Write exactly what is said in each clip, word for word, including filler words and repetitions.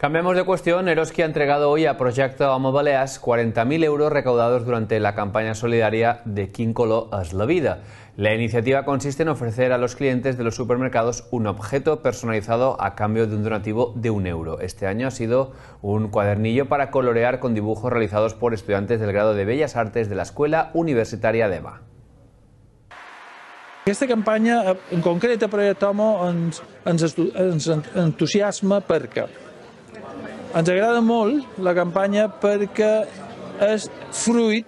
Cambiamos de cuestión. Eroski ha entregado hoy a Proyecto Home Balears cuarenta mil euros recaudados durante la campaña solidaria de Quin color és la vida. La iniciativa consiste en ofrecer a los clientes de los supermercados un objeto personalizado a cambio de un donativo de un euro. Este año ha sido un cuadernillo para colorear con dibujos realizados por estudiantes del grado de Bellas Artes de la Escuela Universitària d'Ema. Aquesta campanya, en concret a Proyecto Home, ens, ens, ens entusiasma perquè ens agrada molt la campanya perquè és fruit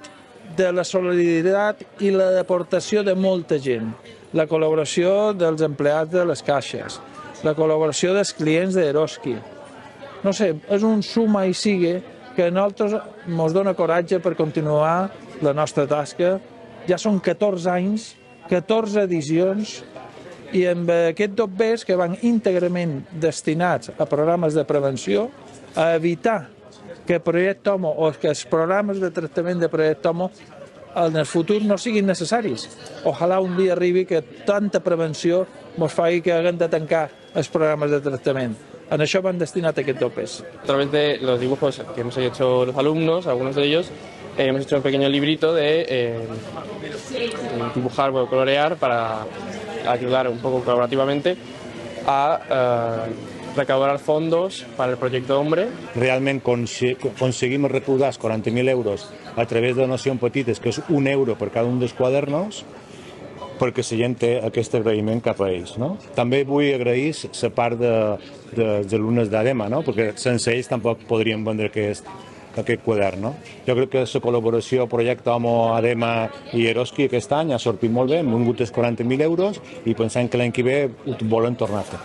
de la solidaritat i l'aportació de molta gent. La col·laboració dels empleats de les caixes, la col·laboració dels clients d'Eroski. No sé, és un suma i sigue que a nosaltres ens dona coratge per continuar la nostra tasca. Ja són catorze anys, catorze edicions, i amb aquests dobbers que van íntegrament destinats a programes de prevenció, a evitar que Proyecto Home o que els programes de tractament de Proyecto Home en el futur no siguin necessaris. Ojalà un dia arribi que tanta prevenció ens faci que haguem de tancar els programes de tractament. En això van destinats aquests dobbers. A través de los dibujos que hemos hecho los alumnos, algunos de ellos, eh, hemos hecho un pequeño librito de eh, dibujar o colorear para ayudar un poco colaborativamente a eh, recaudar fondos para el proyecto Hombre. Realment aconseguim recaudar els quaranta mil euros a través de donacions petites, que és un euro per cada un dels quadernos, perquè la gent té aquest agraïment cap a ells. No? També vull agrair la part de, de, dels alumnes d'Adema, no? Perquè sense ells tampoc podríem vendre aquest, aquest quadern. No? Jo crec que la col·laboració Proyecto Home, Adema i Eroski aquest any ha sortit molt bé, hem vingut els quaranta mil euros i pensem que l'any que ve ho volen tornar a fer.